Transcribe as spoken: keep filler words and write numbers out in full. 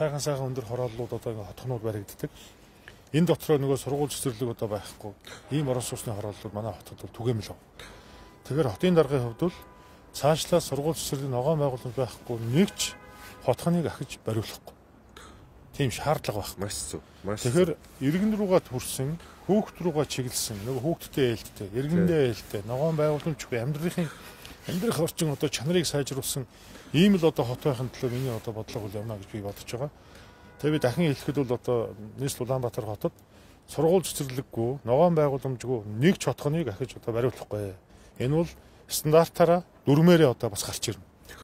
сайхан сайхан өндөр хорооллууд одоо ингээ хотхнууд баригддаг. Энэ дотроо нөгөө сургууль цэцэрлэг одоо байхгүй. Ийм орон сууцны хорооллууд манай хотод бол түгээмэл байна. Тэгэхээр хотын даргын хувьд бол цаашлаа сургууль цэцэрлэгийн ногоон байгууламж байхгүй нэг ч хотхныг ахиж бариулахгүй. Тийм шаардлага байх. Маш зөв. Маш. Тэгэхээр иргэн рүүгээ төрсэн, хүүхд рүүгээ чиглэсэн, нөгөө хүүхдтэй ээлжтэй, иргэндээ ээлжтэй, ногоон байгууламжгүй амьдралын амьдрах орчин одоо чанарыг сайжруулсан ийм л одоо хот байхын төлөө миний одоо бодлого бол явна гэж би бодож байгаа. Тэгээ би дахин хэлэхэд бол одоо нийслэл Улаанбаатар хотод сургууль цэцэрлэггүй, ногоон байгууламжгүй нэг ч хотхныг ахиж одоо бариулахгүй. Энэ бол стандартаараа дүрмээрээ одоо бас гарч ирнэ.